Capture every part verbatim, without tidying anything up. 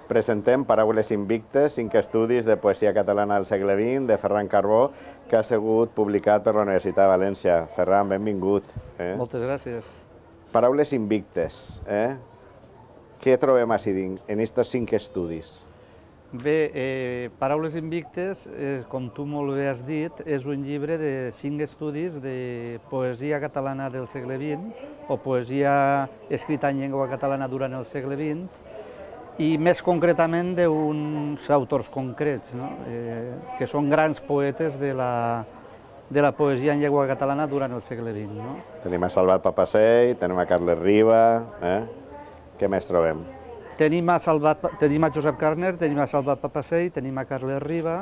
Presentem Paraules invictes, cinc estudis de poesia catalana del segle vint, de Ferran Carbó, que ha sigut publicat per la Universitat de València. Ferran, benvingut. Moltes gràcies. Paraules invictes. Què trobem així en aquests cinc estudis? Bé, Paraules invictes, com tu molt bé has dit, és un llibre de cinc estudis de poesia catalana del segle vint, o poesia escrita en llengua catalana durant el segle vint, i més concretament d'uns autors concrets, que són grans poetes de la poesia en llengua catalana durant el segle vint. Tenim a Salvat Papasseit, tenim a Carles Riba, què més trobem? Tenim a Josep Carner, tenim a Salvat Papasseit, tenim a Carles Riba,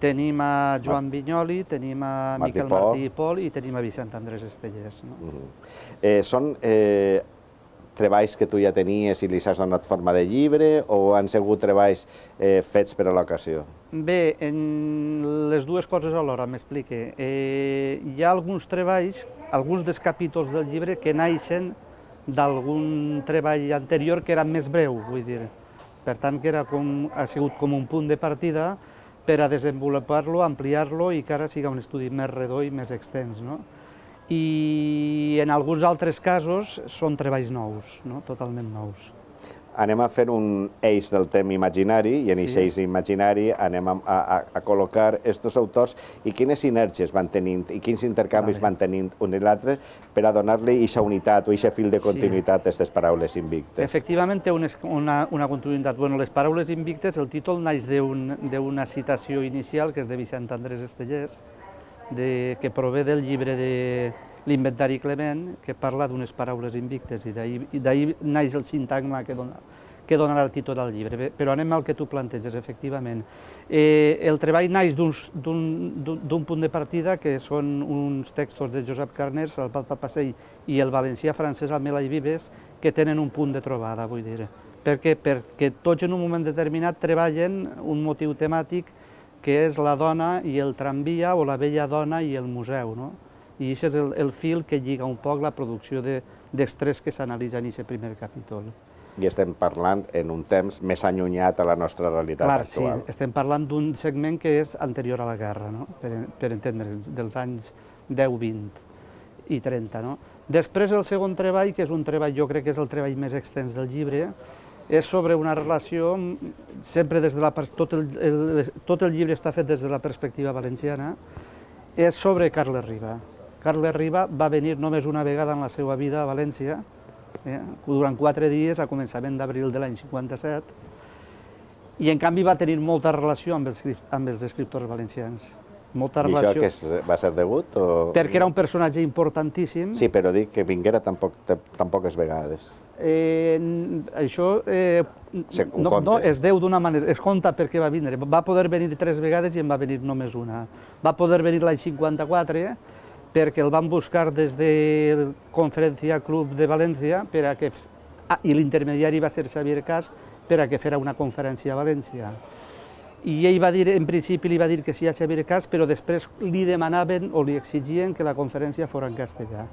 tenim a Joan Vinyoli, tenim a Miquel Martí i Pol i tenim a Vicent Andrés Estellés. Són treballs que tu ja tenies i li has donat forma de llibre o han sigut treballs fets per a l'ocasió? Bé, les dues coses alhora, m'explique. Hi ha alguns treballs, alguns dels capítols del llibre que naixen d'algun treball anterior que era més breu, vull dir. Per tant, que ha sigut com un punt de partida per a desenvolupar-lo, ampliar-lo i que ara sigui un estudi més redó i més extens. I en alguns altres casos són treballs nous, totalment nous. Anem a fer un eix del temps imaginari i en aquest eix imaginari anem a col·locar aquests autors i quines sinergies van tenint i quins intercanvis van tenint un i l'altre per a donar-li aquesta unitat o aquest fil de continuïtat a aquestes paraules invictes. Efectivament té una continuïtat. Les paraules invictes, el títol naix d'una citació inicial que és de Vicent Andrés Estellés, que prové del llibre de l'Inventari Clement, que parla d'unes paraules invictes, i d'ahir naix el sintagma que donarà el títol al llibre. Però anem al que tu planteges, efectivament. El treball naix d'un punt de partida, que són uns textos de Josep Carner, Salvat Papasseit i el valencià Francesc Amelai Vives, que tenen un punt de trobada, vull dir. Perquè tots en un moment determinat treballen un motiu temàtic que és la dona i el tramvia, o la vella dona i el museu. I aquest és el fil que lliga un poc la producció dels tres que s'analitzen en aquest primer capítol. I estem parlant en un temps més allunyat a la nostra realitat actual. Clar, sí, estem parlant d'un segment que és anterior a la guerra, per entendre'ns, dels anys deu, vint i trenta. Després el segon treball, que és un treball, jo crec que és el treball més extens del llibre, és sobre una relació, sempre des de la... Tot el llibre està fet des de la perspectiva valenciana, és sobre Carles Riba. Carles Riba va venir només una vegada en la seva vida a València, durant quatre dies, a començament d'abril de l'any cinquanta-set, i en canvi va tenir molta relació amb els escriptors valencians. I això va ser degut? Perquè era un personatge importantíssim. Sí, però dic que vinguera tan poques vegades. Això no es deu d'una manera, es compta perquè va vindre. Va poder venir tres vegades i en va venir només una. Va poder venir l'any cinquanta-quatre perquè el van buscar des del Conferència Club de València i l'intermediari va ser Xavier Cas per a que fera una conferència a València. I ell va dir, en principi li va dir que sí a Xavier Cas, però després li demanaven o li exigien que la conferència fos en castellà.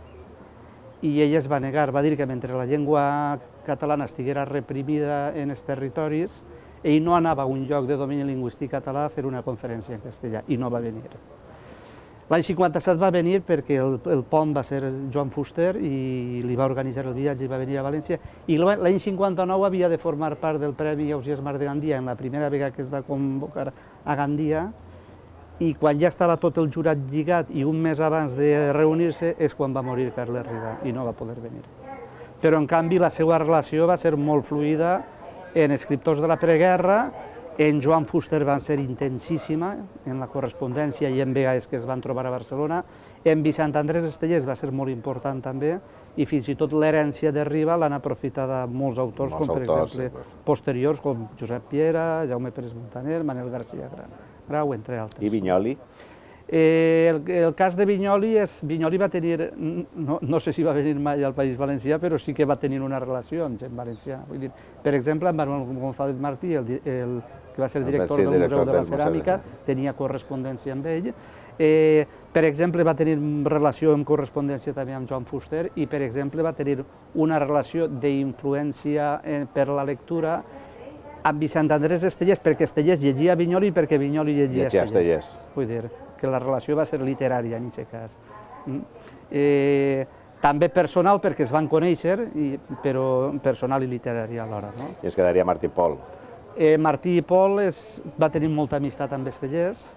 I ell es va negar, va dir que mentre la llengua catalana estiguera reprimida en els territoris, ell no anava a un lloc de domini lingüístic català a fer una conferència en castellà, i no va venir. L'any cinquanta-set va venir perquè el pont va ser Joan Fuster i li va organitzar el viatge i va venir a València, i l'any cinquanta-nou havia de formar part del Premi Ausiàs Marc de Gandia en la primera vegada que es va convocar a Gandia, i quan ja estava tot el jurat lligat i un mes abans de reunir-se és quan va morir Carles Riba i no va poder venir. Però en canvi la seva relació va ser molt fluida en escriptors de la preguerra. En Joan Fuster va ser intensíssima en la correspondència i en vegades que es van trobar a Barcelona. En Vicent Andrés Estellés va ser molt important també, i fins i tot l'herència de Riba l'han aprofitada molts autors, com per exemple posteriors, com Josep Piera, Jaume Pérez Montaner, Manel García Grau, entre altres. I Vinyoli? El cas de Vinyoli és... Vinyoli va tenir... No sé si va venir mai al País Valencià, però sí que va tenir una relació amb gent valencià. Per exemple, amb Manuel González Martí, que va ser director del Museu de la Ceràmica, tenia correspondència amb ell. Per exemple, va tenir relació amb correspondència també amb Joan Fuster i, per exemple, va tenir una relació d'influència per la lectura Amb Vicent Andrés Estellés, perquè Estellés llegia Vinyoli i perquè Vinyoli llegia Estellés. Vull dir que la relació va ser literària en aquest cas. També personal, perquè es van conèixer, però personal i literari alhora. I es quedaria Martí i Pol. Martí i Pol va tenir molta amistat amb Estellés,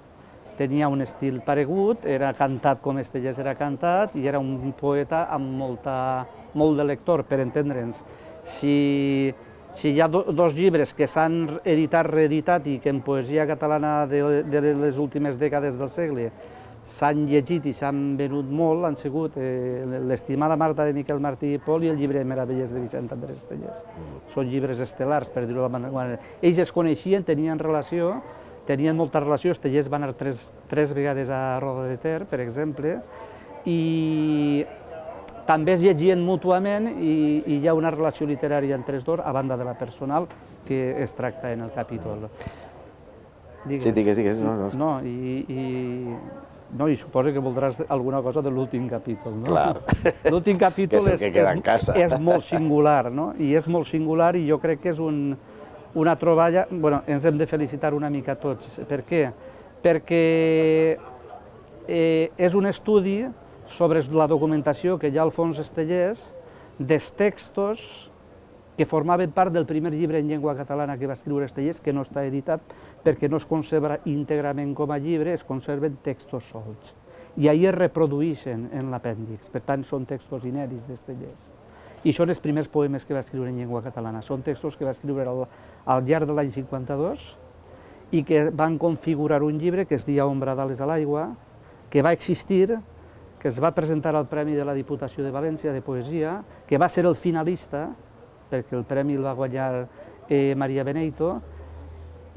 tenia un estil paregut, era cantat com Estellés era cantat i era un poeta amb molt de lector, per entendre'ns. Si hi ha dos llibres que s'han editat, reeditat i que en poesia catalana de les últimes dècades del segle s'han llegit i s'han venut molt, han sigut L'estimada Marta de Miquel Martí i Pol i el llibre de Meravelles de Vicent Andrés Estellés. Són llibres estel·lars, per dir-ho d'alguna manera. Ells es coneixien, tenien relació, tenien molta relació. Estellés va anar tres vegades a Roda de Ter, per exemple, i també es llegien mútuament i hi ha una relació literària entre els dos, a banda de la personal, que es tracta en el capítol. Sí, digues, digues. No, i... No, i suposo que voldràs alguna cosa de l'últim capítol, no? Clar. L'últim capítol és molt singular, no? I és molt singular i jo crec que és una troballa... Bueno, ens hem de felicitar una mica tots. Per què? Perquè és un estudi sobre la documentació que hi ha al fons Estellés dels textos que formaven part del primer llibre en llengua catalana que va escriure Estellés, que no està editat perquè no es conserva íntegrament com a llibre, es conserven textos solts. I ahir es reprodueixen en l'apèndix, per tant són textos inèdits d'Estellés. I són els primers poemes que va escriure en llengua catalana. Són textos que va escriure al llarg de l'any cinquanta-dos i que van configurar un llibre que es deia Ombra d'ales a l'aigua, que va existir, que es va presentar al Premi de la Diputació de València de Poesia, que va ser el finalista, perquè el premi el va guanyar Maria Beneito,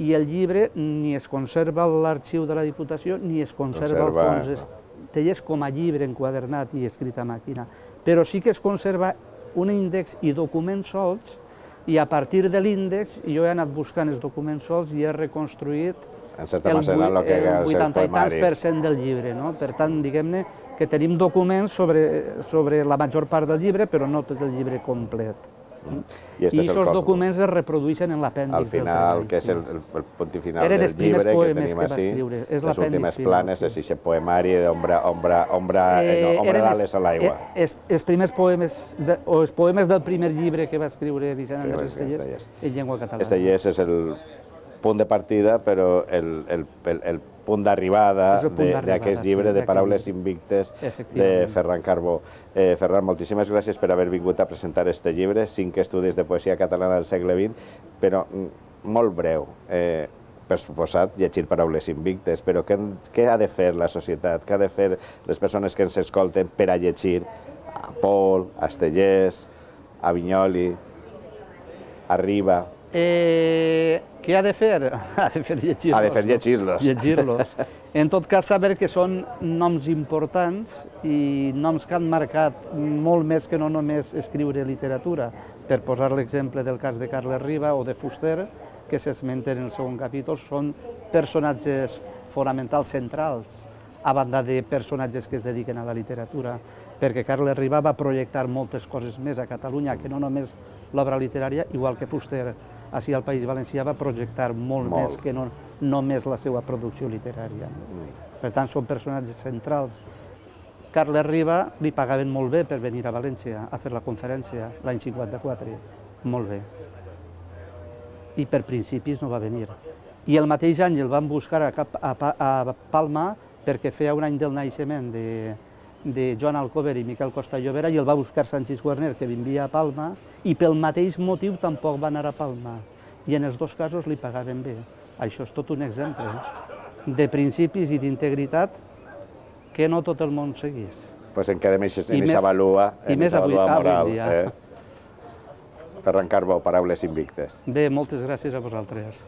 i el llibre ni es conserva a l'arxiu de la Diputació ni es conserva al fons Estellés com a llibre enquadernat i escrit a màquina, però sí que es conserva un índex i documents solts, i a partir de l'índex jo he anat buscant els documents solts i he reconstruït el vuitanta i tants per cent del llibre. Per tant, diguem-ne que tenim documents sobre la major part del llibre, però no tot el llibre complet. I aquests documents es reprodueixen en l'apèndix del treball. Al final, que és el punt final del llibre que tenim així, les últimes planes, és aquest poemari d'Ombra d'ales a l'aigua. Els primers poemes, o els poemes del primer llibre que va escriure Vicent Andrés Estellés en llengua catalana. Estellés és el punt de partida, però el punt d'arribada d'aquest llibre de Paraules invictes de Ferran Carbó. Ferran, moltíssimes gràcies per haver vingut a presentar aquest llibre, cinc estudis de poesia catalana del segle vint, però molt breu. Per suposat, llegir Paraules invictes, però què ha de fer la societat, què ha de fer les persones que ens escolten per a llegir a Pol, a Estellés, a Vinyoli, a Riba? Què ha de fer? Ha de fer llegir-los. Ha de fer llegir-los. Llegir-los. En tot cas, saber que són noms importants i noms que han marcat molt més que no només escriure literatura. Per posar l'exemple del cas de Carles Riba o de Fuster, que s'esmenten en el segon capítol, són personatges fonamentals centrals, a banda de personatges que es dediquen a la literatura, perquè Carles Riba va projectar moltes coses més a Catalunya, que no només l'obra literària, igual que Fuster, així al País Valencià va projectar molt més que no només la seva producció literària. Per tant, són personatges centrals. Carles Riba li pagaven molt bé per venir a València a fer la conferència l'any cinquanta-quatre, molt bé. I per principis no va venir. I el mateix any el van buscar a Palma perquè feia un any del naixement de Joan Alcover i Miquel Costa Llobera i el va buscar Sanchis Guarner, que vivia a Palma, i pel mateix motiu tampoc va anar a Palma. I en els dos casos li pagaven bé. Això és tot un exemple de principis i d'integritat que no tot el món seguís. Doncs en quedem en aquesta valua moral. Ferran Carbó, Paraules invictes. Bé, moltes gràcies a vosaltres.